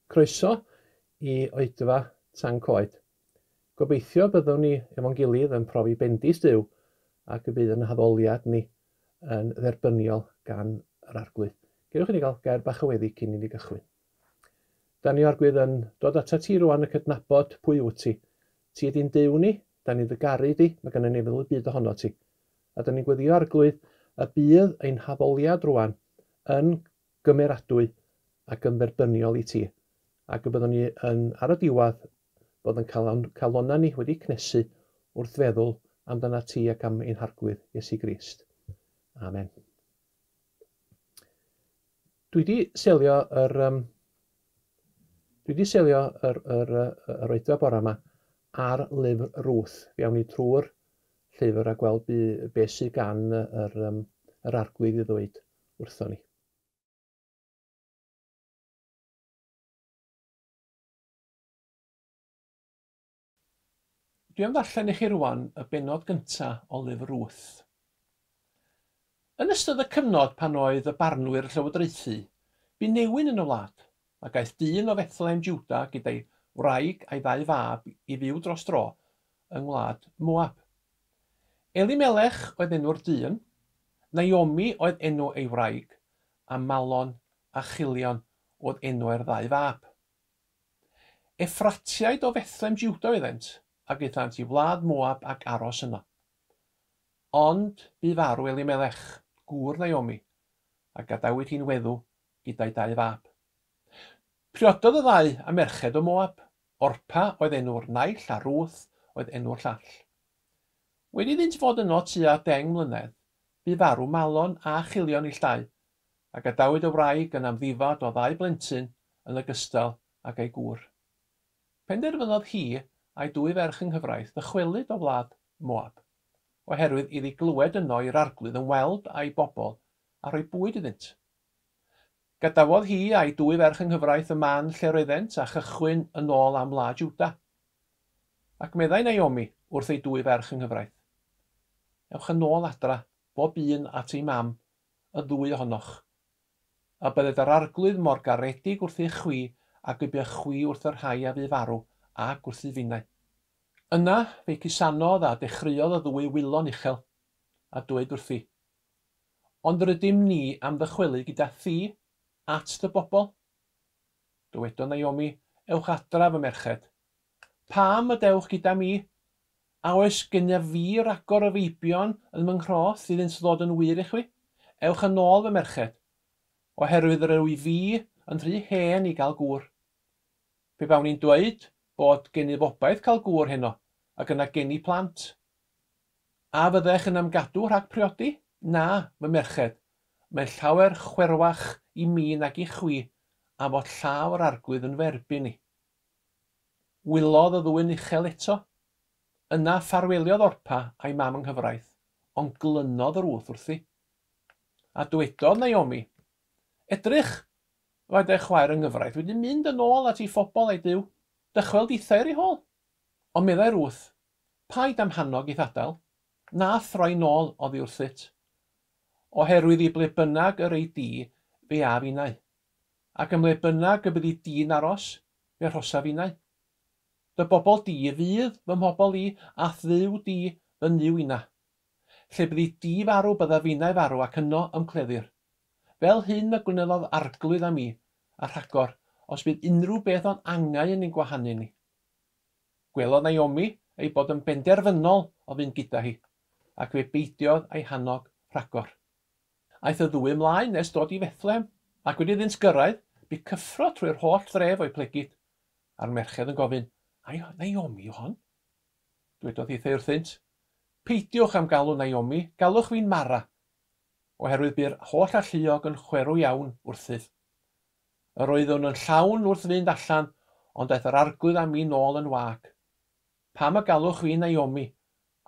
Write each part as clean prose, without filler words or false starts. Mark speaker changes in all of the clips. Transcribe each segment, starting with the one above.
Speaker 1: Croeso i oedfa Tan Coed. Gobeithio byddwn ni efo'n gilydd yn profi bendith Duw ac y bydd yn haddoliad ni yn dderbyniol gan yr Arglwydd. Gewch i ni gael gair bach o weddi cyn i ni gychwyn. Da ni Arglwydd yn dod atat ti rwan yn cydnabod pwy wyt ti. Ti ydy'n Duw ni, da ni'n dy garu di, mae gennym ni feddwl y byd ohono ti. A da ni'n gweddio Arglwydd y bydd ein haddoliad rwan yn gymeradwy ac yn dderbyniol i ti, ac y byddwn ni yn, ar y diwedd, bod yn cael calonnau ni wedi cnesu wrth feddwl amdanat ti ac am ein Harglwydd Iesu Grist. Amen. Dwi wedi selio yr, um, dwi wedi selio yr, yr, yr, yr oedfa bore yma ar lyfr Ruth. Fe awn ni trwy'r llyfr a gweld be sydd gan yr, um, yr arglwydd i ddweud wrthon ni. Dwi am ddarllen i chi rwan y bennod gynta o lyfr Ruth. Yn ystod y cyfnod pan oedd y barnwyr llywodraethu, bu newyn yn y wlad, ac aeth dyn o Fethlehem Juda gyda'i wraig a'i ddau fab i fyw dros dro yng ngwlad Moab. Elimelech oedd enw'r dyn, Naomi oedd enw ei wraig, a Malon a Chilion oedd enwau'r ddau fab. Effratiaid o Fethlem Juda oeddent, ac aethant i wlad Moab ac aros yno. Ond bu farw Elimelech, gŵr Naomi, a gadawyd hi'n weddw gyda'i dau fab. Priododd y ddau â merched o Moab, Orpa oedd enw'r naill a Ruth oedd enw'r llall. Wedi iddynt fod yno tua deng mlynedd, bu farw Malon a Chilion ill dau, a gadawyd y wraig yn amddifad o ddau blentyn yn ogystal ag ei gŵr. Penderfynodd hi a'i dwy ferch yng nghyfraith ddychwelyd o wlad Moab, oherwydd iddi glywed yno i'r Arglwydd ymweld â'i bobl a rhoi bwyd iddynt. Gadawodd hi a'i dwy ferch yng nghyfraith y man lle roeddent a chychwyn yn ôl am wlad Jwda. Ac meddai Naomi wrth ei dwy ferch yng nghyfraith, Ewch yn ôl adra, bob un at ei mam, y ddwy ohonoch. A bydded yr Arglwydd mor garedig wrthych chwi ag y buoch chwi wrth y rhai a fu farw, ac wrthyf finnau. Yna fe'i cusanodd a dechreuodd y ddwy wylo'n uchel, a dweud wrthi, Ond rydym ni am ddychwelyd gyda thi at dy bobl. Dywedodd Naomi, Ewch adra, fy merched. Pam y dewch gyda mi? A oes gennyf fi ragor o feibion yn fy nghroth iddynt ddod yn wir i chwi? Ewch yn ôl, fy merched, oherwydd yr wyf fi yn rhy hen i gael gŵr. Pe bawn i'n dweud bod gennyf obaith cael gŵr heno, ac yna geni plant, A fyddech yn ymgadw rhag priodi? Na, fy merched, mae'n llawer chwerwach i mi nag i chwi am fod llaw yr Arglwydd yn fy erbyn i. Wylodd y ddwy'n uchel eto. Yna ffarweliodd Orpa a'i mam yng nghyfraith, ond glynodd Ruth wrthi. A dwedodd Naomi, Edrych, mae dy chwaer yng nghyfraith wedi mynd yn ôl at ei phobl a'i Duw, dychwel dithau ar ei hôl. Ond meddai Ruth, Paid â'm hannog i'th adael, na throi nôl oddi wrthyt. Oherwydd i ble bynnag yr ei di, fe af innau. Ac ym mhle bynnag y byddi di'n aros, fe arhosaf innau. Dy bobl di fydd fy mhobl i, a'th Dduw di fy Nuw inna. Lle byddi di farw, byddaf innau farw, ac yno y'm cleddir. Fel hyn y gwnelodd Arglwydd â mi, a rhagor, os bydd unrhyw beth o'n angau yn ein gwahanu ni. Gwelodd Naomi ei bod yn benderfynol o fynd gyda hi, ac fe beidiodd â'i hannog rhagor. Aeth y ddwy ymlaen nes dod i Fethlehem, ac wedi iddynt gyrraedd, bu cyffro trwy'r holl dref o'u plegid, a'r merched yn gofyn, Ai Naomi yw hon? Dwedodd hithau wrthynt, Peidiwch â'm galw Naomi, galwch fi'n Mara, oherwydd bu'r holl alluog yn chwerw iawn wrthyf. Yr oeddwn yn llawn wrth fynd allan, ond daeth yr Arglwydd â mi nôl yn wag. Pam y galwch fi Naomi,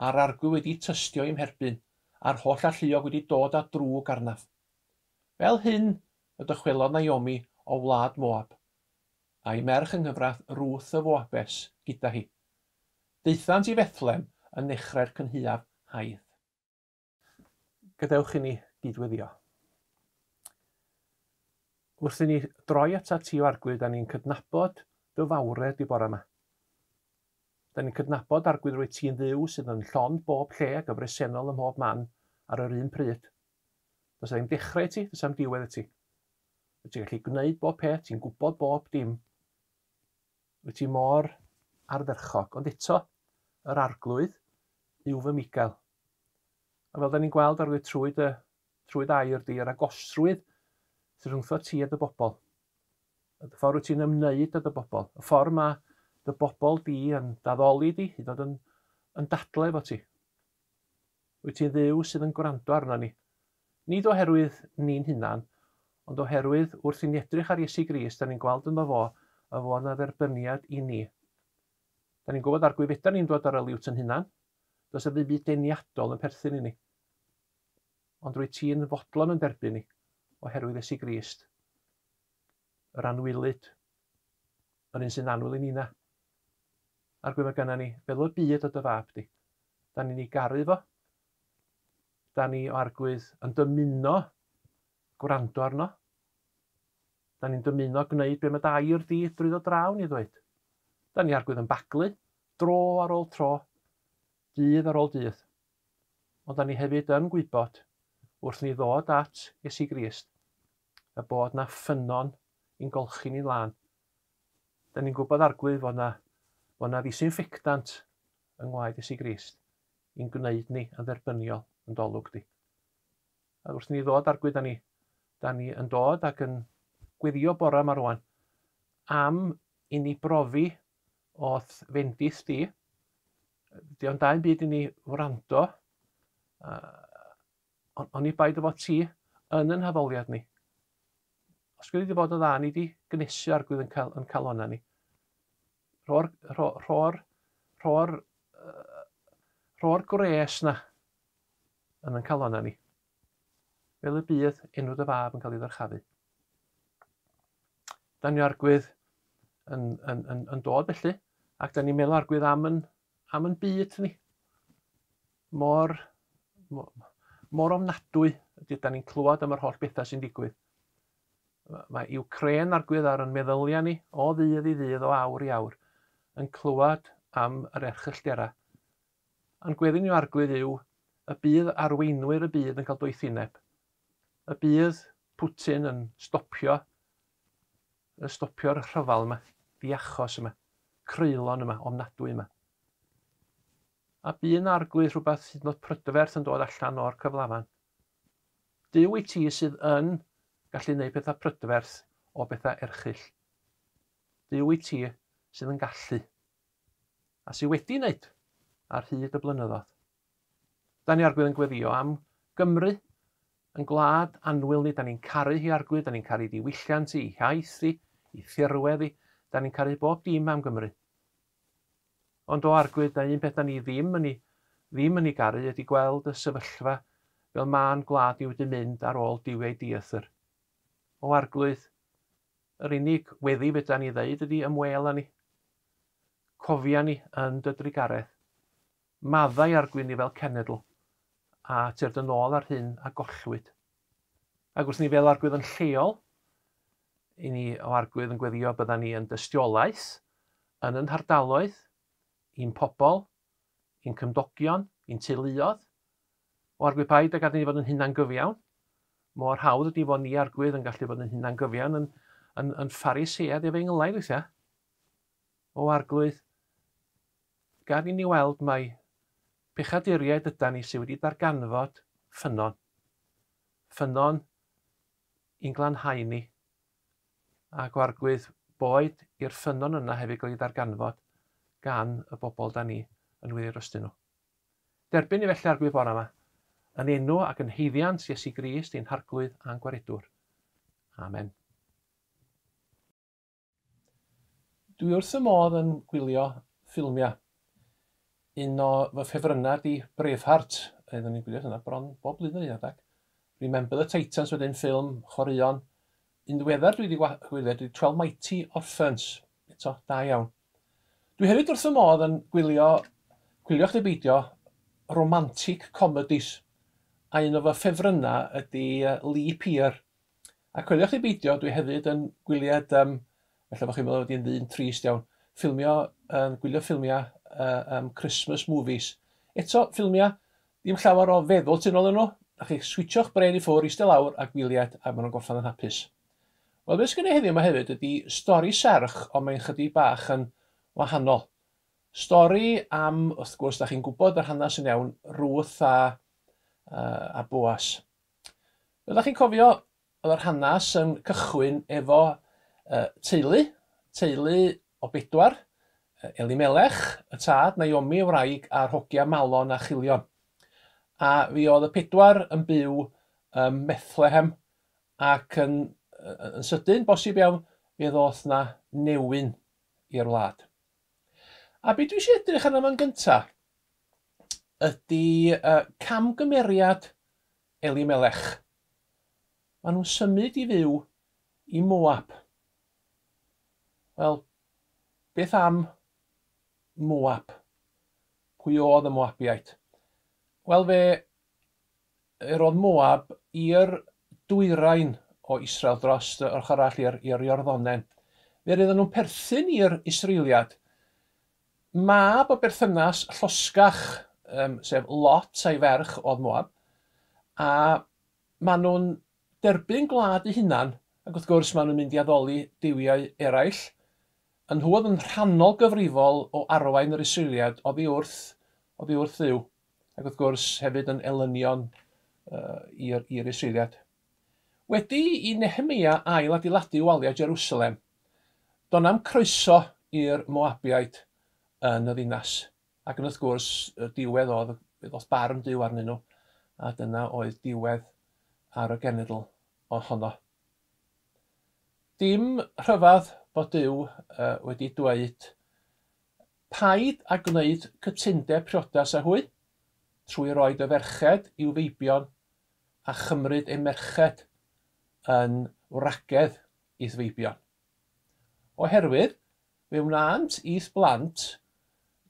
Speaker 1: a'r Arglwydd wedi tystio i'm herbyn, a'r holl alluog wedi dod â drwg arnaf? Fel hyn y dychwelodd Naomi o wlad Moab, a'i merch yng nghyfraith Ruth y Foabes gyda hi. Daethant i Fethlem yn nechrau'r cynhaeaf haidd. Gadewch i ni gydweddio. Wrth i ni droi atat ti o Arglwydd, da ni'n cydnabod dy fawredd di bore yma. Da ni'n cydnabod Arglwydd rwyt ti'n Dduw sydd yn llond bob lle ac yn bresennol ym mhob man ar yr un pryd. Does ddim dechrau i ti, does am diwedd i ti. Wyt ti'n gallu gwneud bob peth, ti'n gwybod bob dim. Wyt ti mor ardderchog, ond eto, yr Arglwydd yw fy Migael. A fel da ni'n gweld Arglwydd trwy dy trwy dy air di, yr agosrwydd sydd rhwngtho ti a dy bobl. Y ffordd wyt ti'n ymwneud â dy bobl. Y ffordd mae dy bobl di yn daddoli di, hyd yn oed yn, yn dadle efo ti. Wyt ti'n Dduw sydd yn gwrando arno ni. Nid oherwydd ni'n hunan, ond oherwydd wrth i ni edrych ar Iesu Grist, da ni'n gweld ynddo fo, y fo yna dderbyniad i ni. Da ni'n gwybod Arglwydd fedar ni'n dod ar y liwt yn hunan. Does 'na ddim byd deniadol yn perthyn i ni. Ond rwyt ti'n fodlon yn derbyn ni, oherwydd Iesu Grist, yr anwylyd, yr un sy'n annwyl i nina. Arglwydd mae gynna ni fel y byd o dy fab di. Da ni'n ei garu fo. Da ni o Arglwydd yn dymuno gwrando arno. Da ni'n dymuno gwneud be mae dy air di drwyddo draw ni ddweud. Da ni Arglwydd yn baglu, dro ar ôl tro, dydd ar ôl dydd. Ond da ni hefyd yn gwybod, wrth ni ddod at Iesu Grist, y bod na ffynnon i'n golchi ni'n lân. Da ni'n gwybod Arglwydd fod na, fod na ddisinffectant yng ngwaed Iesu Grist i'n gwneud ni yn dderbyniol yn dolwg di. A wrth ni ddod Arglwydd, da ni, da ni yn dod ac yn gweddio bore yma rwan am i ni brofi o'th fendith di. Di o'n da'n byd i ni wrando, oni bai dy fod ti yn yn haddoliad ni. Os gwedi di fod yn dda, ni di gnesu Arglwydd yn, cal, yn calonna ni. Rho'r, rho, rho'r, rho'r, rho'r gwres na yn yn calonna ni. Fel y bydd enw dy fab yn cael ei ddyrchafu. Da ni Arglwydd yn, yn, yn, yn dod felly, ac da ni'n meddwl Arglwydd am yn, am yn byd ni. Mor, mor, mor ofnadwy ydy da ni'n clywed am yr holl bethau sy'n digwydd. Mae Ukraine Arglwydd ar yn meddyliau ni o ddydd i ddydd, o awr i awr, yn clywed am yr erchyllterau. A'n gweddi ni o Arglwydd yw y bydd arweinwyr y byd yn cael doethineb. Y bydd Putin yn stopio yn stopio'r rhyfel yma, diachos yma, creulon yma, ofnadwy yma. A bu yn Arglwydd rhywbeth hyd yn oed prydferth yn dod allan o'r cyflafan. Duw i ti sydd yn gallu gwneud pethau prydferth o bethau erchyll. Duw i ti sydd yn gallu. A sydd wedi wneud ar hyd y blynyddoedd. Da ni Arglwydd yn gweddio am Gymru, yn gwlad annwyl ni, da ni'n caru hi Arglwydd, da ni'n caru diwylliant hi, iaith hi, i thirwedd hi, da ni'n caru bob dim am Gymru. Ond o Arglwydd, da un peth da ni ddim yn ei, ddim yn ei garu ydy gweld y sefyllfa fel ma'n gwlad ni wedi mynd ar ôl duwiau dieithr. O Arglwydd, yr unig weddi fedra ni ddeud ydy ymwêl â ni. Cofia ni yn dy drugaredd. Maddau Arglwydd ni fel cenedl, a tyrd yn ôl ar hyn a gollwyd. Ac wrth ni fel Arglwydd yn lleol, i ni o Arglwydd yn gweddio bydda ni yn dystiolaeth yn yn hardaloedd, i'n pobl, i'n cymdogion, i'n teuluodd. O Arglwydd paid ag gad i ni fod yn hunangyfiawn. Mor hawdd ydy fod ni Arglwydd yn gallu bod yn hunangyfiawn yn, yn, yn Pharisead efengylaidd weithiau. O Arglwydd, Gad i ni weld mai pechaduriaid ydan ni sydd wedi darganfod ffynnon. Ffynnon i'n glanhau ni. Ac o Arglwydd, boed i'r ffynnon yna hefyd gael ei ddarganfod gan y bobl da ni yn wir drostyn nhw. Derbyn ni felly Arglwydd bore yma, yn enw ac yn haeddiant Iesu Grist ein Harglwydd a'n Gwaredwr. Amen. Dwi wrth fy modd yn gwylio ffilmiau. Un o fy ffefrynnau di Braveheart. Oeddwn i'n gwylio hynna bron bob blwyddyn un adeg. Remember the Titans wedyn, ffilm chwaraeon. Un ddiweddar dwi wedi gwylio ydy 12 Mighty Orphans. Eto, da iawn. Dwi hefyd wrth fy modd yn gwylio, gwylio chdi beidio, romantic comedies. A un o fy ffefrynnau ydy Leap Year. A coeliwch chi beidio, dwi hefyd yn gwyliad, ella bod chi'n meddwl bod i'n ddyn trist iawn, ffilmio, gwylio ffilmiau Christmas movies. Eto, ffilmiau, ddim llawer o feddwl tu nôl nhw, a chi switsio'ch brain i ffwrdd, eistedd lawr a gwyliad, a maen nhw'n gorffan yn hapus. Wel, beth sgynna i heddiw yma hefyd ydy stori serch, ond mae'n chydig bach yn wahanol. Stori am, wrth gwrs, da chi'n gwybod yr hanes yn iawn, Ruth a Boas. Fel da chi'n cofio, oedd yr hanes yn cychwyn efo teulu, teulu o bedwar, Elimelech, y tad, Naomi, y wraig, a'r hogia Malon a Chilion. A fi oedd y pedwar yn byw ym Methlehem, ac yn sydyn, bosib iawn, fe ddoth na newyn i'r wlad. A be dwi eisiau edrych arno fo'n gyntaf ydy camgymeriad Elimelech. Maen nhw'n symud i fyw i Moab. Wel, beth am Moab? Pwy oedd y Moabiaid? Wel, fe roedd Moab i'r dwyrain o Israel dros yr ochr arall i'r Iorddonen. Fe roedden nhw'n perthyn i'r Israeliad. Mab o berthynas llosgach, sef Lot a'i ferch oedd Moab, a maen nhw'n derbyn gwlad eu hunan, ac wrth gwrs maen nhw'n mynd i addoli duwiau eraill. Yn nhw oedd yn rhannol gyfrifol o arwain yr Israeliad oddi wrth Dduw, ac wrth gwrs hefyd yn elynion i'r Israeliad. Wedi i Nehemia ail adeiladu waliau Jerusalem, doedd na'm croeso i'r Moabiaid yn y ddinas. Ac yn wrth gwrs, y diwedd oedd, ddoth barn Duw arnyn nhw, a dyna oedd diwedd ar y genedl ohono. Dim rhyfedd bod Duw wedi dweud, paid a gwneud cytundeb priodas â hwy, trwy roi dy ferched i'w feibion a chymryd eu merched yn wragedd i'th feibion. Oherwydd, fe wnânt i'th blant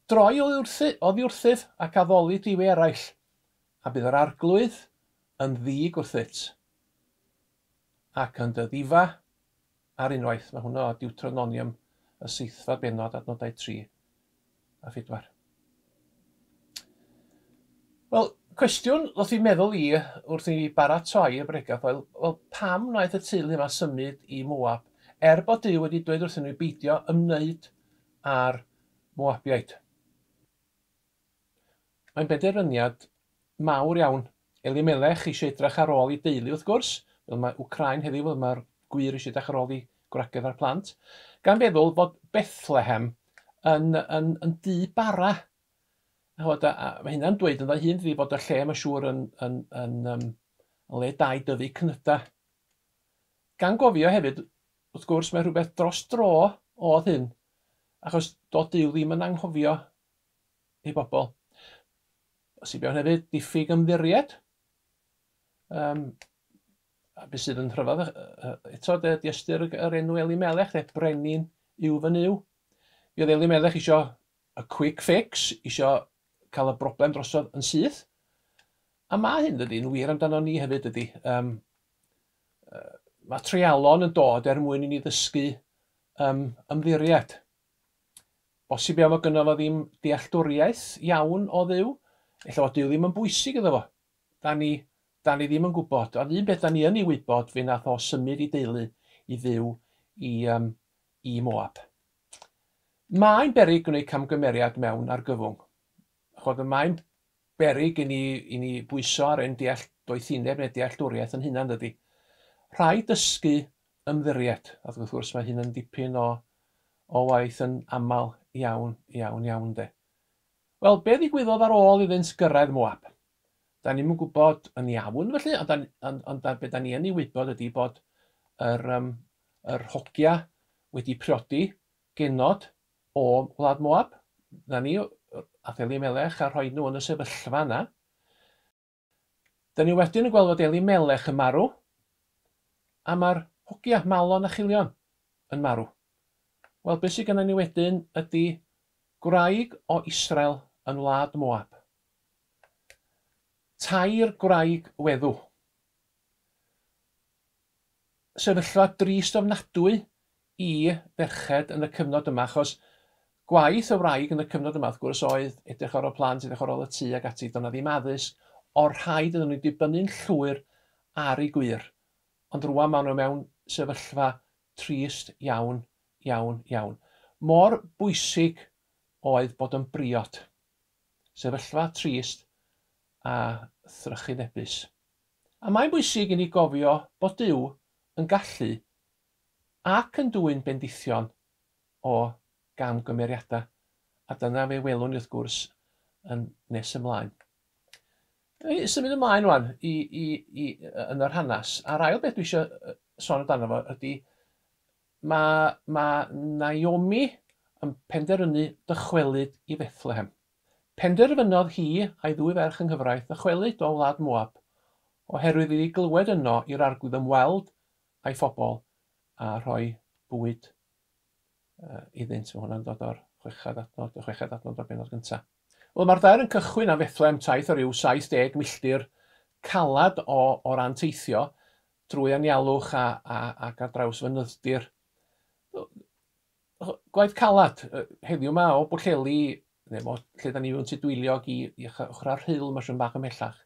Speaker 1: droi oddi wrthyf ac addoli duwiau eraill, a bydd yr arglwydd yn ddig wrthyt ac yn dy ddifa ar unwaith. Mae hwnna o Deuteronomium y 7fed bennod, adnodau 3 a 4. Wel, cwestiwn ddoth i'n meddwl i wrth i mi baratoi y bregath oedd, wel, pam wnaeth y teulu yma symud i Moab, er bod Duw wedi dweud wrthyn nhw i beidio ymwneud â'r Moabiaid? Mae'n benderfyniad mawr iawn. Elimelech eisiau edrych ar ôl ei deulu, wrth gwrs, fel mae Wcráin heddiw, fel mae'r gwir eisiau edrych ar ôl ei gwragedd a'r plant, gan feddwl fod Bethlehem yn dŷ bara. A mae hynna'n dweud ynddo hun, dydi, bod y lle, mae'n siŵr, yn le da i dyfu cnyda. Gan gofio hefyd, wrth gwrs, mae rhywbeth dros dro oedd hyn, achos doedd Duw ddim yn anghofio ei bobl. Bosib iawn hefyd, diffyg ymddiried. A beth sydd yn rhyfedd eto, de, ystyr yr enw Elimelech, de, brenin yw fy Nuw. Mi oedd Elimelech isio y quick fix, isio cael y broblem drosodd yn syth. A mae hyn, dydy, yn wir amdano ni hefyd, dydy. Mae treialon yn dod er mwyn i ni ddysgu ymddiried. Bosib iawn fod gynno fo ddim dealltwriaeth iawn o Dduw. Ella fod Duw ddim yn bwysig iddo fo. Da ni ddim yn gwybod. Ond un beth da ni yn ei wybod, fe nath o symud i deulu i fyw i Moab. Mae'n beryg gwneud camgymeriad mewn argyfwng. Chod, mae'n beryg i ni bwyso ar ein doethineb neu dealltwriaeth yn hunan, dydy. Rhaid dysgu ymddiried. A wrth gwrs mae hyn yn dipyn o waith yn aml iawn, iawn, iawn, de. Wel, be ddigwyddodd ar ôl iddynt gyrraedd Moab? Da ni'm yn gwybod yn iawn, felly, ond be da ni yn ei wybod ydy bod yr hogia wedi priodi genod o wlad Moab. Na ni, ath Elimelech a rhoi nhw yn y sefyllfa yna. Da ni wedyn yn gweld fod Elimelech yn marw, a mae'r hogia, Malon a Chilion, yn marw. Wel, beth sydd gennym ni wedyn ydy gwraig o Israel yn wlad Moab. 3 gwraig weddw. sefyllfa drist ofnadwy i ferched yn y cyfnod yma, achos gwaith y wraig yn y cyfnod yma, wrth gwrs, oedd edrych ar ôl plant, edrych ar ôl y tŷ ac ati. Doedd 'na ddim addysg, o'r rhaid iddyn nhw dibynnu'n llwyr ar eu gwŷr. Ond rŵan maen nhw mewn sefyllfa trist iawn, iawn, iawn. Mor bwysig oedd bod yn briod. Sefyllfa trist a thrychinebus. A mae'n bwysig i ni gofio bod Duw yn gallu ac yn dwyn bendithion o gamgymeriadau. A dyna fe welwn ni wrth gwrs yn nes ymlaen. I symud ymlaen rwan i, i, i, yn yr hanes, a'r ail beth dwi eisiau sôn amdano fo ydy mae, mae Naomi yn penderfynu dychwelyd i Fethlehem. Penderfynodd hi a'i ddwy ferch yng nghyfraith ddychwelyd o wlad Moab, oherwydd iddi glywed yno i'r arglwydd ymweld â'i phobl a rhoi bwyd iddynt. Mae hwnna'n dod o'r chweched adnod, y chweched adnod o'r bennod gyntaf. Wel, mae'r dair yn cychwyn am Fethlehem taith o ryw 70 milltir calad o, o ran teithio drwy anialwch a, a, ac ar draws fynydd-dir. Gwaith calad, heddiw 'ma o Bwllheli, neu mo, lle da ni mewn Tudweiliog i, i ochr Rhyl, mae'n siŵr bach ymhellach.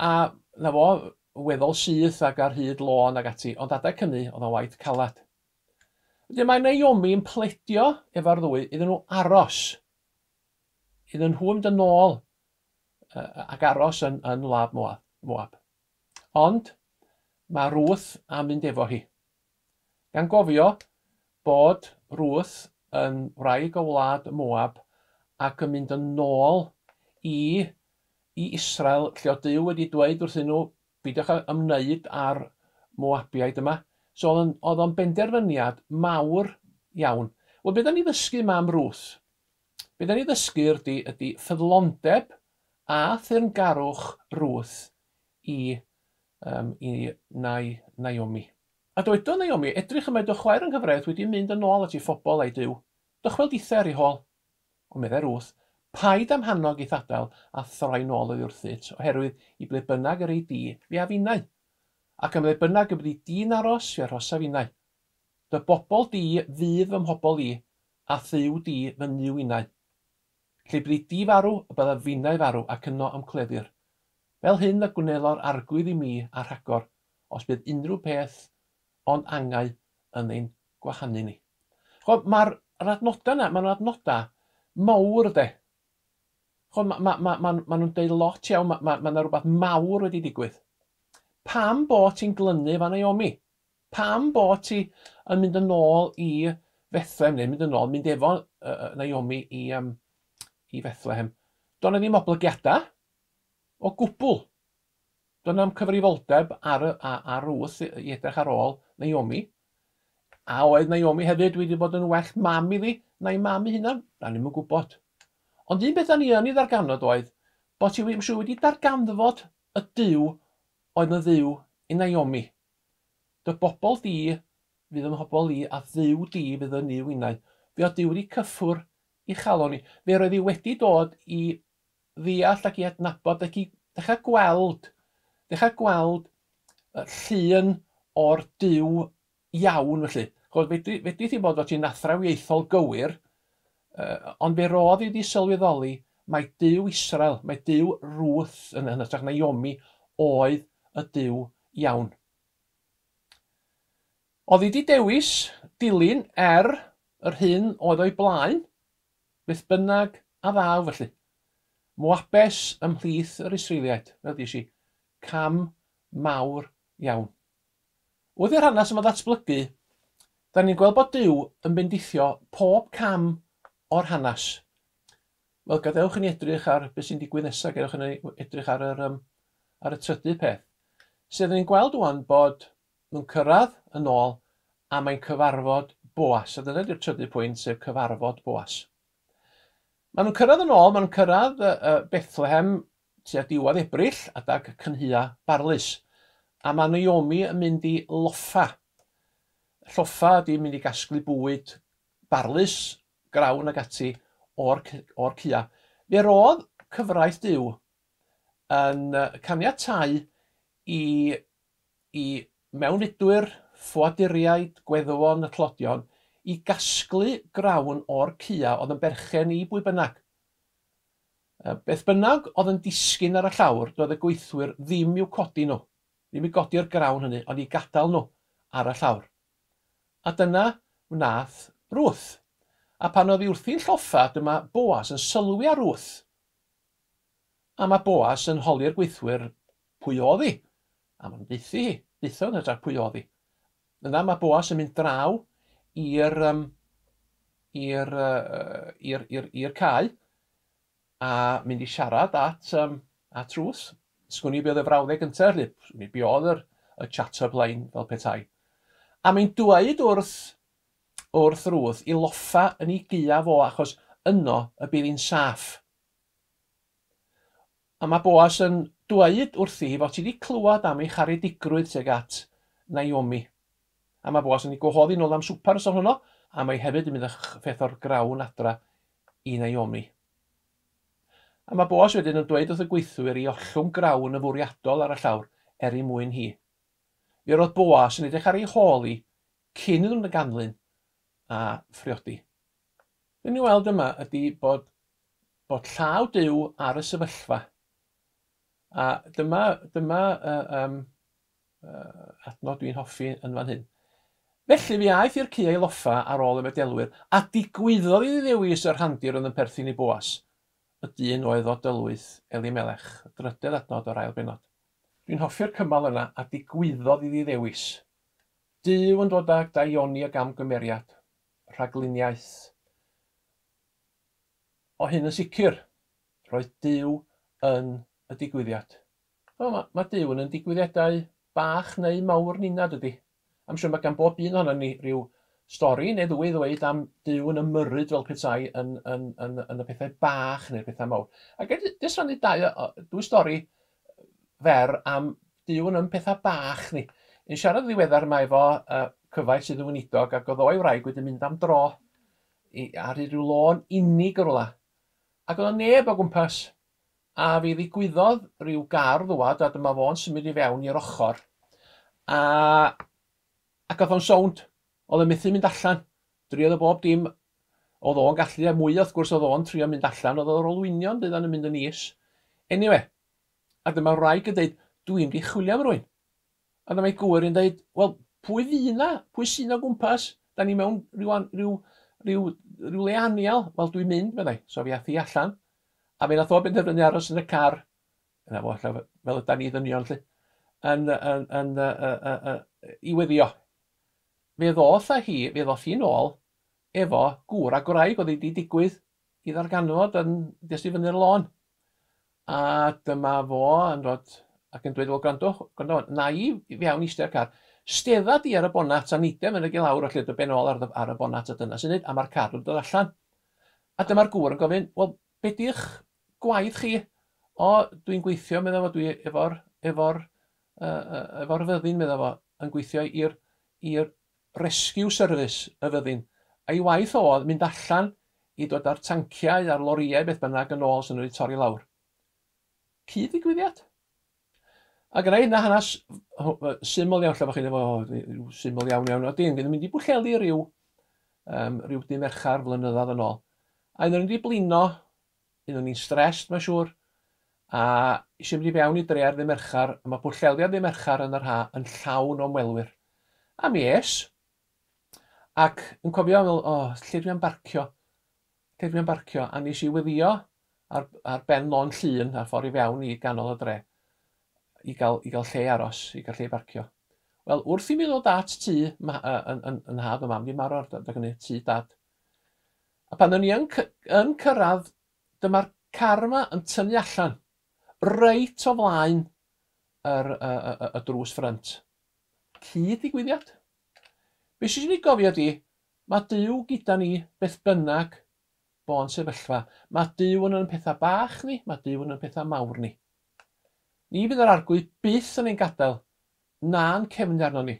Speaker 1: A na fo, weddol syth ac ar hyd lôn ac ati, ond adeg hynny, oedd o'n waith calad. Wedyn mae Naomi yn pledio efo'r ddwy iddyn nhw aros. Iddyn nhw mynd yn ôl ac aros yn, yn wlad Moab. Moab. Ond mae Ruth am mynd efo hi. Gan gofio bod Ruth yn wraig o wlad Moab ac yn mynd yn ôl i i Israel lle oedd Duw wedi dweud wrthyn nhw beidiwch â ymwneud â'r Moabiaid yma. So oedd o'n, oedd o'n benderfyniad mawr iawn. Wel, be da ni ddysgu yma am Ruth? Be da ni ddysgu ydy, ydy ffyddlondeb a thyrngarwch Ruth i, um, i Nai, Naomi. A dywedodd Naomi, Edrych y mae dy chwaer yng nghyfraith wedi mynd yn ôl at ei phobl a'i Duw. Dychwel dithau ar ei hôl. Ond meddai Ruth, Paid â'm hannog i'th adael a throi'n ôl oddi wrthyt, oherwydd i ble bynnag yr ei di, fe af innau. Ac ym mhle bynnag y byddi di'n aros, fe arhosaf innau. Dy bobl di fydd fy mhobl i, a Dduw di fy Nuw innau. Lle byddi di farw, y byddaf finnau farw, ac yno a'm cleddir. Fel hyn y gwnelo'r Arglwydd i mi a rhagor, os bydd unrhyw peth ond angau yn ein gwahanu ni. Ch'mod, mae'r yr adnodau yna, maen nhw'n adnodau mawr de. Ch'mod, ma' ma' ma' ma' ma' nhw'n deud lot iawn, ma' ma' ma' 'na rywbeth mawr wedi digwydd. Pam bo ti'n glynu efo Naomi? Pam bo ti yn mynd yn ôl i Fethlehem, neu mynd yn ôl, mynd efo uh, Naomi i, um, i Fethlehem? Do'n 'na ddim oblygiadau o gwbl. Doedd na'm cyfrifoldeb ar, y, ar Ruth i edrych ar ôl Naomi. A oedd Naomi hefyd wedi bod yn well mam iddi na'i mam ei hunan? Da ni'm yn gwybod. Ond un beth da ni yn ei ddarganfod oedd bod hi wedi, wedi darganfod y Duw oedd yn Dduw i Naomi. Dy bobl di fydd yn mhobl i a Dduw di fydd yn Nuw innau. Fe oedd Duw wedi cyffwr i chalon hi. Fe roedd hi wedi dod i ddeall ac i adnabod ac i ddechrau gweld, ddechrau gweld llun o'r Duw iawn felly. Ch'mod, fedri, fedri ti bod fod ti'n athrawiaethol gywir, uh, ond fe rodd i di sylweddoli mae Duw Israel, mae Duw Ruth yn, yn hytrach Naomi oedd y Duw iawn. Oedd hi di dewis dilyn er yr hyn oedd o'i blaen, Beth bynnag a ddaw, felly. Moabes ymhlith yr Israeliaid, fel dys i, cam mawr iawn. Wrth i'r hanes yma ddatblygu, da ni'n gweld bod Duw yn bendithio pob cam o'r hanes. Wel, gadewch i ni edrych ar beth sy'n digwydd nesaf, gadewch i ni edrych ar yr, um, ar y trydydd peth. Sef, da ni'n gweld wan bod nhw'n cyrraedd yn ôl a mae'n cyfarfod Boas. A dyna di'r trydydd pwynt, sef cyfarfod Boas. Maen nhw'n cyrraedd yn ôl, maen nhw'n cyrraedd Bethlehem tua diwedd Ebrill, adag cynhua barlys. A mae Naomi yn mynd i loffa. Lloffa ydy mynd i gasglu bwyd barlys, grawn ac ati o'r, or cua. Fe roedd cyfraith Duw yn caniatau i i mewnfudwyr, ffoaduriaid, gweddwon y tlodion i gasglu grawn o'r cua oedd yn berchen i bwy bynnag. Beth bynnag oedd yn disgyn ar y llawr, doedd y gweithwyr ddim i'w codi nhw, ddim i godi'r grawn hynny, ond i gadael nhw ar y llawr. A dyna wnaeth Ruth. A pan oedd hi wrthi'n lloffa, dyma Boaz yn sylwi ar Ruth. A mae Boaz yn holi'r gweithwyr pwy oedd hi. A maen nhw'n deuthu hi, deutho yn hytrach pwy oedd hi. Yna mae Boaz yn mynd draw i'r um, i'r uh, i'r i'r i'r cae a mynd i siarad at um, at Ruth. Sgwn i be oedd y frawddeg gyntaf, felly, sgwn i be oedd yr, y chat-up line fel petai. A mae'n dweud wrth wrth Ruth i loffa yn ei gaeaf o achos yno y bydd hi'n saff. A mae Boas yn dweud wrthi hi fod hi wedi clywed am ei charedigrwydd tuag at Naomi. A mae Boas yn ei gwahoddi nôl am swper noson honno, a mae hefyd yn mynd â pheth o'r grawn adra i Naomi. A mae Boas wedyn yn dweud wrth y gweithwyr i ollwng grawn yn fwriadol ar y llawr er ei mwyn hi. Mi roedd Boas yn edrych ar ei hôl hi cyn iddyn nhw ganlyn a phriodi. Be ni'n weld yma ydy bod, bod llaw Duw ar y sefyllfa. A dyma, dyma uh, um, uh, adnod dwi'n hoffi yn fan hyn. Felly fi aeth i'r caeau loffa ar ôl y medelwyr, a digwyddodd iddi ddewis y rhandir oedd yn perthyn i Boas, y dyn oedd o dylwyth Elimelech, y drydedd adnod o'r ail bennod. Dwi'n hoffi'r cymal yna, a digwyddodd iddi ddewis. Duw yn dod ag daioni o gamgymeriad, rhagluniaeth. O hyn yn sicr, roedd Duw yn y digwyddiad. Wel, mae, mae Duw yn yn digwyddiadau bach neu mawr nina, dydy? I'm siŵr mae gan bob un ohonon ni ryw stori neu ddwy i ddweud am Duw yn ymyrryd fel petai yn, yn, yn, yn y pethau bach neu'r pethau mawr. A ga i jyst rhannu dau, dwy stori fer am Duw yn yn pethau bach ni. Yn siarad yn ddiweddar mae efo uh, cyfaill sydd yn weinidog ac oedd o'i wraig wedi mynd am dro i, ar rhyw lôn unig o rwla. Ac oedd o neb o gwmpas. A fi ddigwyddodd rhyw gar ddwad a dyma fo'n symud i fewn i'r ochr. A, ac oedd o'n sownd. Oedd o'n methu mynd allan. Driodd o bob dim oedd o'n gallu, a mwy wrth gwrs oedd o'n trio mynd allan, oedd o'r olwynion dyddan yn mynd yn is. Anyway, a dyma wraig yn dweud, dwi'n mynd i chwilio am rwy'n. A dyma ei gŵr yn dweud, wel, pwy fu na? Pwy sy'n o gwmpas? Da ni mewn rhyw, rhyw, rhyw, rhyw le anial. Wel, dwi'n mynd, meddai. So fi ath hi allan. A fe nath o benderfynu aros yn y car. Yna fo, ella, fel yda ni ddynion, lle. Yn, yn, yn, uh, uh, uh, i weddio. Fe ddoth â hi, fe ddoth hi'n ôl efo gŵr a gwraig oedd wedi digwydd i ddarganfod yn jyst i fyny'r lôn. A dyma fo yn dod ac yn dweud, wel, gwrandwch, gwrandwch, na i fewn i eistedd car. Stedda di ar y bonat a nidem yn y lawr felly dy ben ôl ar, ar y bonat a dyna sy'n neud, a mae'r car yn dod allan. A dyma'r gŵr yn gofyn, wel, be di'ch gwaith chi? O, dwi'n gweithio, meddai fo, dwi efo'r efo'r uh, efo'r fyddin, meddai fo, yn gweithio i'r i'r rescue service y fyddin. A'i waith oedd mynd allan i dod â'r tanciau a'r lorïau beth bynnag yn ôl sy'n nhw wedi torri lawr. Cyd-ddigwyddiad? A gyda hynna hanes syml iawn, lle bod chi'n efo, syml iawn iawn, o dyn, gyda mynd i Bwllheli rhyw, um, rhyw dy Mercher flynyddoedd yn ôl. A un o'n wedi blino, un o'n i'n stressed, mae'n siŵr, a eisiau mynd i fewn i dre ar ddy Mercher, a mae Pwllheli ar ddy Mercher yn yr ha yn llawn o ymwelwyr. A mi es, ac yn cofio, meddwl, o, oh, lle dwi am barcio? Lle dwi am barcio? A nes i weddio ar, ar ben lôn llun, ar ffordd i fewn i ganol y dre, i gael, i gael lle aros, i gael lle i barcio. Wel, wrth i mi ddod at tŷ, ma, yn, yn, yn nhad o mam, di marw ar adeg hynny, tŷ dad. A pan o'n i yn, yn cyrraedd, dyma'r car yma yn tynnu allan, reit o flaen yr, y, y, y, y drws ffrynt. Cyd-ddigwyddiad. Be sydd eisiau ni gofio di, mae Duw gyda ni beth bynnag bo'n sefyllfa. Mae Duw yn yn pethau bach ni, mae Duw yn yn pethau mawr ni. Ni fydd yr arglwydd byth yn ein gadael, na'n cefnu arno ni.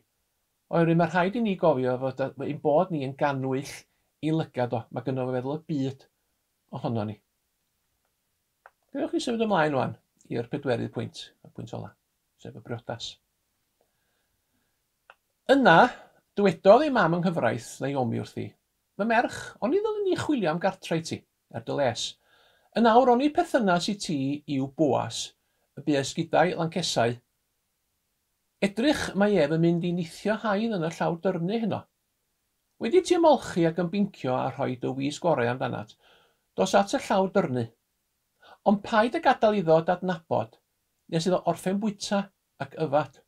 Speaker 1: Oherwydd mae rhaid i ni gofio fod ein bod ni yn gannwyll i lygad o. Mae gynno fo feddwl y byd ohono ni. Gewch chi symud ymlaen wan i'r pedwerydd pwynt, y pwynt ola, sef y briodas. Yna, dywedodd ei mam yng nghyfraith, Naomi, wrthi, Fy merch, oni ddylwn ni chwilio am gartre i ti, er dy les? Yn awr, oni perthynas i ti yw Boas, y bues gyda'i lancesau? Edrych, mae ef yn mynd i nithio haidd yn y llawr dyrnu heno. Wedi ti ymolchi ac ymbincio a rhoi dy wisg orau amdanat, dos at y llawr dyrnu. Ond paid â gadael iddo d'adnabod nes iddo orffen bwyta ac yfed.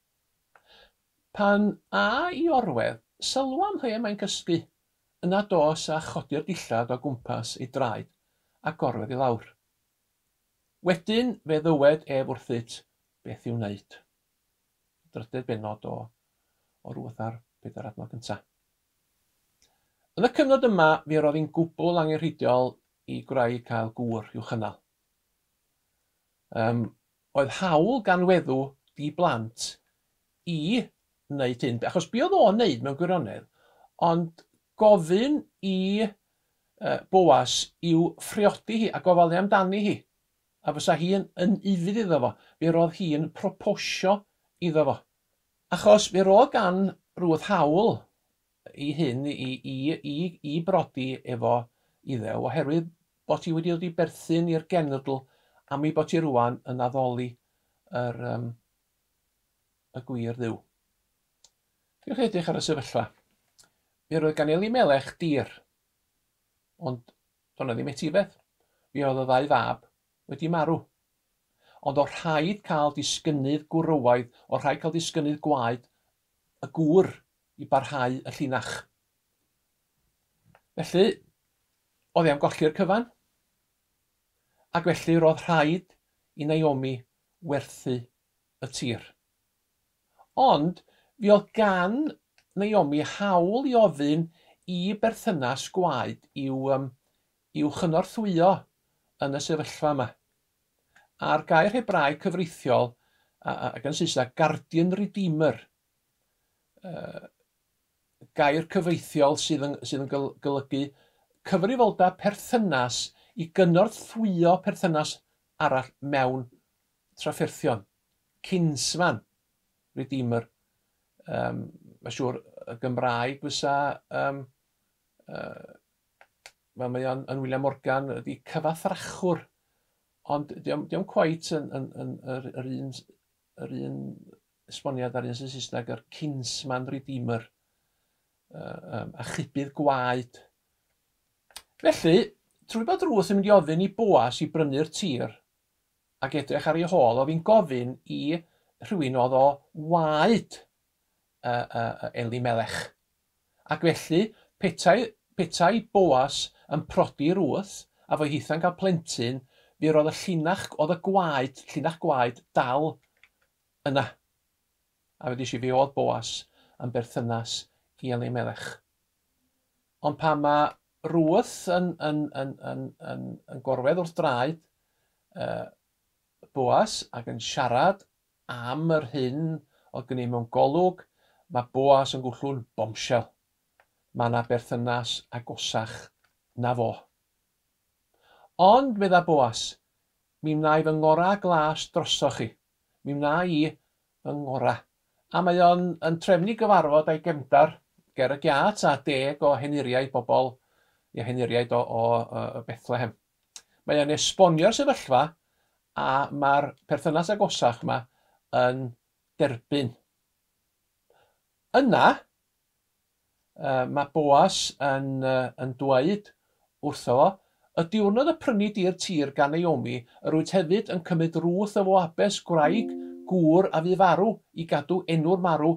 Speaker 1: Pan a i orwedd, sylwa ym mhle mae'n cysgu, yna dos a chodi'r dillad o gwmpas ei draed a gorwedd i lawr. Wedyn fe ddywed ef wrthyt beth i'w wneud. Drydedd bennod o, o Ruth a'r pedair adnod gyntaf. Yn y cyfnod yma, mi roedd hi'n gwbl angenrheidiol i gwraig cael gŵr i'w chynnal. Um, oedd hawl gan weddw di blant i wneud hyn, achos be oedd o'n wneud mewn gwirionedd, ond gofyn i Boas i'w phriodi hi a gofalu amdani hi, a fysa hi'n yn ufudd iddo fo, fe roedd hi'n proposio iddo fo. Achos fe roedd gan Ruth hawl i hyn i, i, i, i brodi efo Iddew, oherwydd bod hi wedi dod i berthyn i'r genedl am ei bod hi rwan yn addoli yr, um, y gwir dduw. Dewch edrych ar y sefyllfa. Mi roedd gan Elimelech dir, ond doedd 'na ddim etifedd. Mi oedd y ddau fab wedi marw. Ond o rhaid cael disgynnydd gwrywaidd, o rhaid cael disgynnydd gwaed y gŵr i barhau y llinach. Felly, oedd e am golli'r cyfan. Ac felly roedd rhaid i Naomi werthu y tir. Ond fi oedd gan Naomi hawl i ofyn i berthynas gwaed i'w, um, i'w chynorthwyo yn y sefyllfa yma. A'r gair Hebraeg cyfreithiol, ac yn Saesneg, guardian redeemer, gair cyfreithiol sydd yn, sydd yn golygu cyfrifoldeb perthynas i gynorthwyo perthynas arall mewn trafferthion. Kinsman, redeemer. Um, Mae'n siŵr y Gymraeg fysa, um, fel mae o'n yn William Morgan, ydy cyfathrachwr. Ond diom, diom quite yn, yn, yn, yr, yr, un, yr un esboniad ar un sy'n Saesneg, yr kinsman redeemer, um, achubydd gwaed. Felly, trwy bod Ruth yn mynd i ofyn i Boas i brynu'r tir ac edrych ar ei hôl, oedd hi'n gofyn i rhywun oedd o waed Elimelech. Ac felly, petai, petai Boas yn prodi Ruth, a fo hitha'n cael plentyn, fi roedd y llinach, oedd y gwaed, llinach gwaed dal yna. A fe i fi oedd Boas yn berthynas i Elimelech. Ond pan mae Ruth yn, yn, yn, yn, yn, yn gorwedd wrth draed Boas ac yn siarad am yr hyn oedd gen i mewn golwg, mae Boas yn gwllw'n bombshell. Mae yna berthynas agosach na fo. Ond, medda Boas, mi wna i fy ngorau glas drosoch chi. Mi wna i fy ngorau. A mae o'n yn trefnu gyfarfod a'i gefndar ger y giat a 10 o henuriaid bobl, i henuriaid o, o, o Bethlehem. Mae o'n esbonio'r sefyllfa a mae'r perthynas agosach yma yn derbyn. Yna, mae Boas yn, yn dweud wrtho fo, y diwrnod y prynu di'r tir gan Naomi, yr wyt hefyd yn cymryd Ruth y Foabes, gwraig gŵr a fu farw, i gadw enw'r marw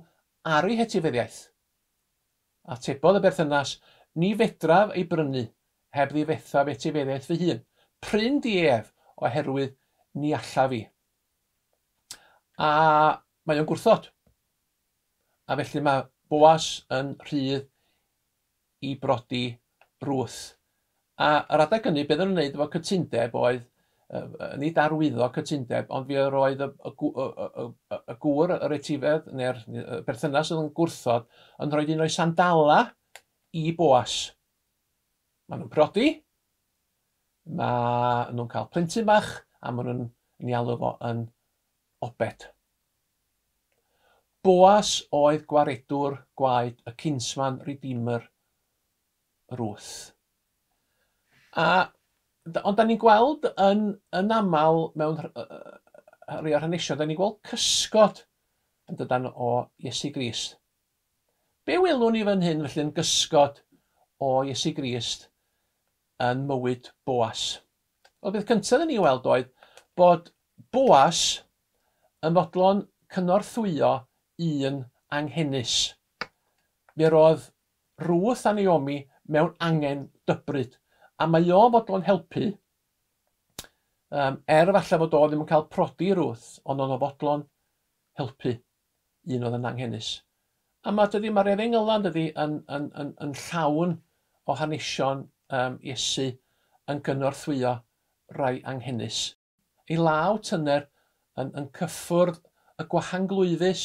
Speaker 1: ar ei hetifeddiaeth. Atebodd y berthynas, ni fedraf ei brynu, heb ddifetha etifeddiaeth fy hun. Pryn di ef, oherwydd ni allaf i. A mae o'n gwrthod. A felly mae Boas yn rhydd i brodi Ruth. A yr adeg hynny, beth o'n nhw'n gwneud efo cytundeb oedd, nid arwyddo cytundeb, ond fi roedd y, y, y, y, y, y gŵr, yr etifedd, neu'r berthynas oedd yn gwrthod, yn rhoi un o'i sandala i Boas. Maen nhw'n prodi, mae nhw'n cael plentyn bach, a maen nhw'n ei alw fo yn Obed. Boas oedd gwaredwr gwaed y kinsman redeemer Ruth. A, ond da ni'n gweld yn, yn aml mewn rhai o'r hanesion, da ni'n gweld cysgod yn dydan o Iesu Grist. Be welwn ni fan hyn felly yn gysgod o Iesu Grist yn mywyd Boas? Wel, beth cyntaf ni weld oedd bod Boas yn fodlon cynorthwyo un anghenus. Mi roedd Ruth a Naomi mewn angen dybryd, a mae o'n fodlon helpu, er falle fod o ddim yn cael prodi Ruth, ond o'n fodlon helpu un oedd yn anghenus. A mae, dydy, mae'r efengylau dydy, yn, yn, yn, yn llawn o hanesion Iesu yn gynorthwyo rai anghenus. Ei law tyner yn, yn cyffwrdd y gwahanglwyfus,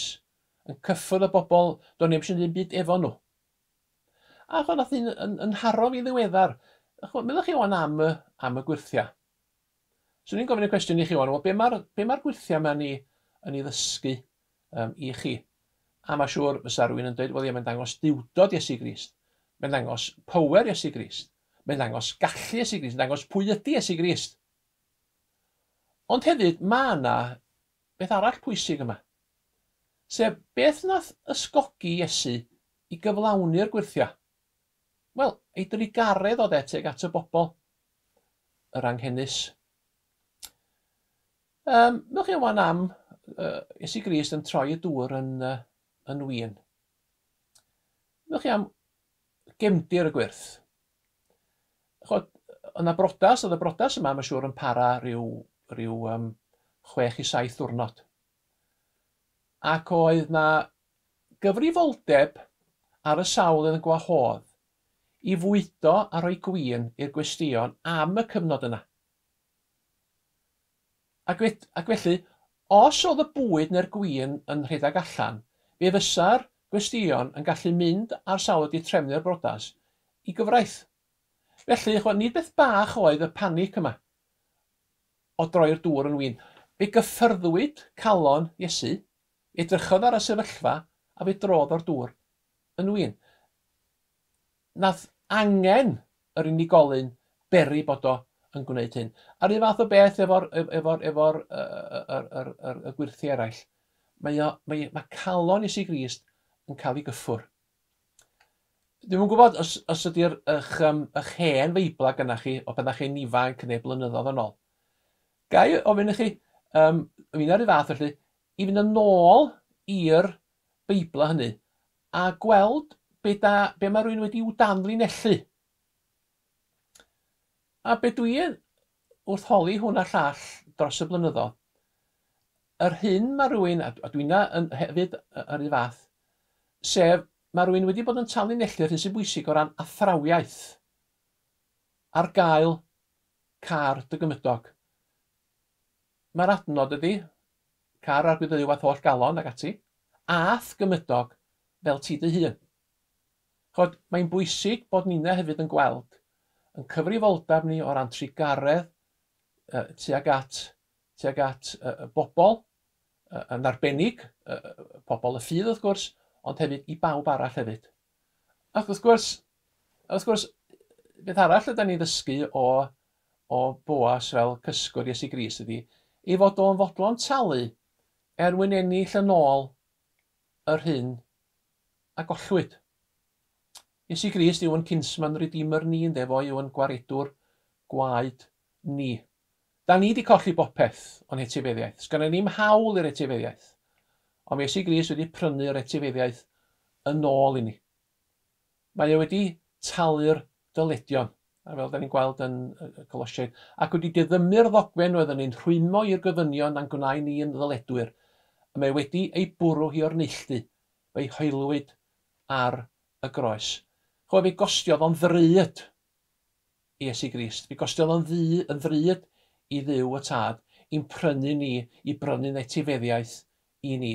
Speaker 1: yn cyffwrdd y bobl, do'n i'm eisiau ddim byd efo nhw. A chwa, nath un yn, yn haro fi ddiweddar. Chwa, meddwch chi wan am y, am y gwyrthiau. Swn i'n gofyn y cwestiwn i chi wan, wel, be mae'r be mae'r gwyrthiau yma ni yn ei ddysgu i chi? A mae siŵr fysa rhywun yn dweud, wel ie, mae'n dangos duwdod Iesu Grist. Mae'n dangos power Iesu Grist. Mae'n dangos gallu Iesu Grist. Mae'n dangos pwy ydy Iesu Grist. Ond hefyd, mae yna beth arall pwysig yma. Sef, beth nath ysgogi Iesu i gyflawni'r gwyrthiau? Wel, ei drugaredd oedd e tuag at y bobl, yr anghenus. Meddwch chi wan am Iesu Grist yn troi y dŵr yn, yn win. Meddwch chi am gefndir y gwyrth. Chod, yna brodas, oedd y brodas yma, mae'n siŵr, yn para rhyw, rhyw 6 i 7 diwrnod. Ac oedd na gyfrifoldeb ar y sawl oedd yn gwahodd i fwydo a rhoi gwin i'r gwesteion am y cyfnod yna. Ac, ac felly, os oedd y bwyd neu'r gwin yn rhedeg allan, fe fysa'r gwesteion yn gallu mynd ar sawl wedi trefnu'r brodas i gyfraith. Felly, chwa, nid beth bach oedd y panic yma o droi'r dŵr yn win. Fe gyffyrddwyd calon Iesu, edrychodd ar y sefyllfa a fe drodd o'r dŵr yn win. Nath angen yr unigolyn beri bod o yn gwneud hyn. A'r un fath o beth efo'r efo, efo, yr, yr, yr, y gwyrthiau eraill. Mae, o, mae, mae calon Iesu Grist yn cael ei gyffwrdd. Dwi'm yn gwybod os, os ydy'r eich, eich hen Feibla gyda chi o pan chi'n ifanc neu blynyddoedd yn ôl. Ga i ofyn i chi, fi'n ar y fath felly, i fynd yn ôl i'r Beibla hynny a gweld be, da, be mae rhywun wedi i'w danlinellu. A be dwi wrth holi hwn a llall dros y blynyddoedd, yr hyn mae rhywun, a dwi'n yn hefyd yr un fath, sef mae rhywun wedi bod yn tanlinellu'r hyn sy'n bwysig o ran athrawiaeth ar gael car dy gymydog. Mae'r adnod ydy, car Arglwydd Dduw a'th holl galon ac ati, a'th gymydog fel ti dy hun. Chod, mae'n bwysig bod ninna hefyd yn gweld yn cyfrifoldeb ni o ran trugaredd tuag at, tuag at y bobl, yn arbennig, pobl y ffydd wrth gwrs, ond hefyd i bawb arall hefyd. Ac wrth gwrs, wrth gwrs, beth arall ydy ni'n ddysgu o, o Boas fel cysgwr Iesu Grist ydy, ei fod o'n fodlon talu er mwyn ennill yn ôl yr hyn a gollwyd. Iesu Grist yw yn kinsman redeemer ni, ynde, fo yw yn gwaredwr gwaed ni. Da ni wedi colli bopeth o'n hetifeddiaeth. Sgynna ni'm hawl i'r etifeddiaeth. Ond mae Iesu Grist wedi prynu'r etifeddiaeth yn ôl i ni. Mae e wedi talu'r dyledion, a fel da ni'n gweld yn y Colosiaid, ac wedi diddymu'r ddogfen oedd yn ein rhwymo i'r gofynion a'n gwnau ni yn ddyledwyr. A mae wedi ei bwrw hi o'r neilltu, fe'i hoelwyd ar y groes. Chwa, fe gostiodd o'n ddrud i Iesu Grist. Fe gostiodd o'n ddu, yn ddrud i Dduw y Tad i'n prynu ni, i brynu'n etifeddiaeth i ni.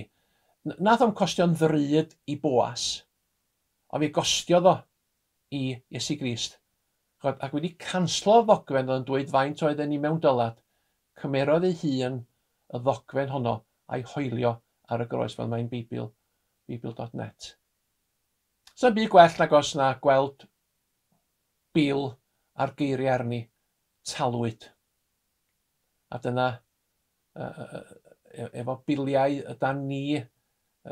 Speaker 1: Nath o'm costio'n ddrud i Boas, ond fe gostiodd o i Iesu Grist. Chod, ac wedi canslo'r ddogfen oedd yn dweud faint oedden ni mewn dylad, cymerodd ei hun y ddogfen honno a'i hoelio ar y groes fel mae'n Beibl Beibl.net. Sa'n byd gwell nag os na gweld bil a'r geiriau arni, talwyd. A dyna, efo biliau ydan ni,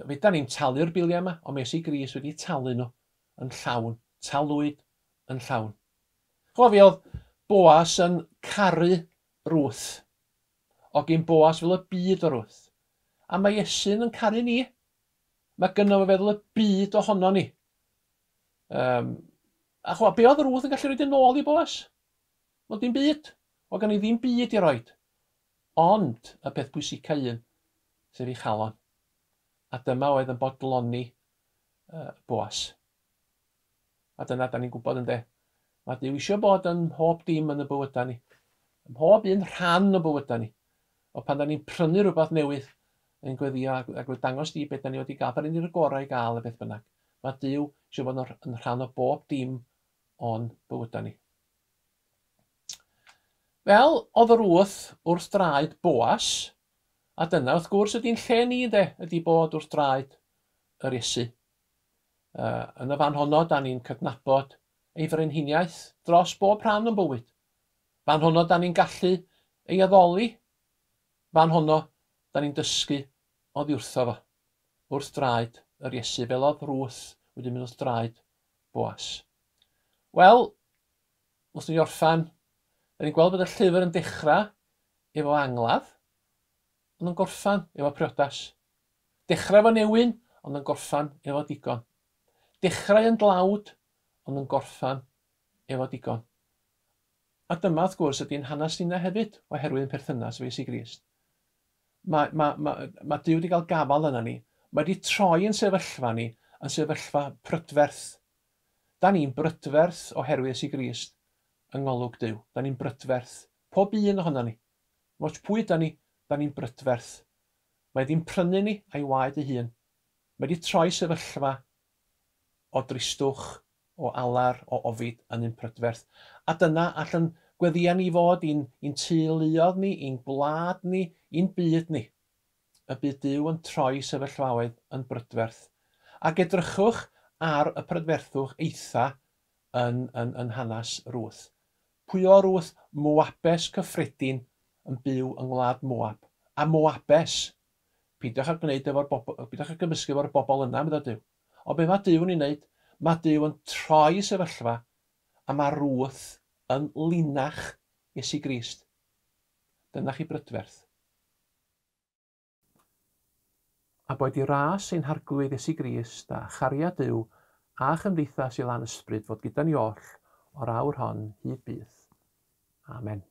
Speaker 1: fedran ni'm talu'r biliau yma, ond mae Iesu Grist wedi talu nhw yn llawn. Talwyd yn llawn. Chwa fi oedd Boas yn caru Ruth. O gyn Boas fel y byd o Ruth. A mae Iesu'n yn caru ni. Mae gynno fo feddwl y byd ohono ni. Um, a chwa, be oedd Ruth yn gallu rhoi yn ôl i Boas? Wel, dim byd. O gan i ddim byd i roed. Ond y peth pwysica un, sef ei chalon. A dyma oedd yn bodloni uh, Boas. A dyna da ni'n gwybod ynde. Mae Duw eisiau bod yn mhob dim yn y bywydau ni. Ym mhob un rhan o bywydau ni. O pan da ni'n prynu rhywbeth newydd, yn gweddio ac, ac dangos di beth da ni wedi gael, pan ni'n gorau i gael y beth bynnag. Mae Duw eisiau bod yn rhan o bob dim o'n bywydau ni. Fel oedd Ruth wrth draed Boas, a dyna wrth gwrs ydy'n lle ni ynde, ydy bod wrth draed yr Iesu. Uh, yn y fan honno, da ni'n cydnabod ei frenhiniaeth dros bob rhan o'n bywyd. Fan honno, da ni'n gallu ei addoli. Fan honno, da ni'n dysgu oddi wrtho fo, wrth draed yr Iesu, fel oedd Ruth wedi mynd wrth draed Boas. Wel, wrth ni orffan, da ni'n gweld bod y llyfr yn dechrau efo angladd, ond yn gorffan efo priodas. Dechrau efo newyn, ond yn gorffan efo digon. Dechrau yn dlawd, ond yn gorffan efo digon. A dyma, wrth gwrs, ydy'n hanes ninnau hefyd, oherwydd yn perthynas efo Iesu Grist. Mae, mae, mae, mae Duw wedi cael gafael yna ni. Mae wedi troi yn sefyllfa ni yn sefyllfa prydferth. Da ni'n brydferth oherwydd Iesu Grist yng ngolwg Duw. Da ni'n brydferth. Pob un ohono ni. Moch pwy da ni, da ni'n brydferth. Mae wedi'n prynu ni a'i waed ei hun. Mae wedi troi sefyllfa o dristwch, o alar, o ofid yn un prydferth. A dyna allan gweddïa ni fod i'n, i'n teuluodd ni, i'n gwlad ni, i'n byd ni. Y bydd Duw yn troi sefyllfaoedd yn brydferth. Ac edrychwch ar y prydferthwch eitha yn, yn, yn hanes Ruth. Pwy o Ruth? Moabes cyffredin yn byw yng ngwlad Moab. A Moabes, peidiwch â gwneud efo'r bobl, peidiwch â gymysgu efo'r bobl yna, meddai Duw. Ond be mae Duw yn ei wneud? Mae Duw yn troi sefyllfa a mae Ruth yn linach Iesu Grist. Dyna chi brydferth. A boed i ras ein Harglwydd Iesu Grist a chariad Duw a chymdeithas i lan ysbryd fod gyda ni oll o'r awr hon hyd byth. Amen.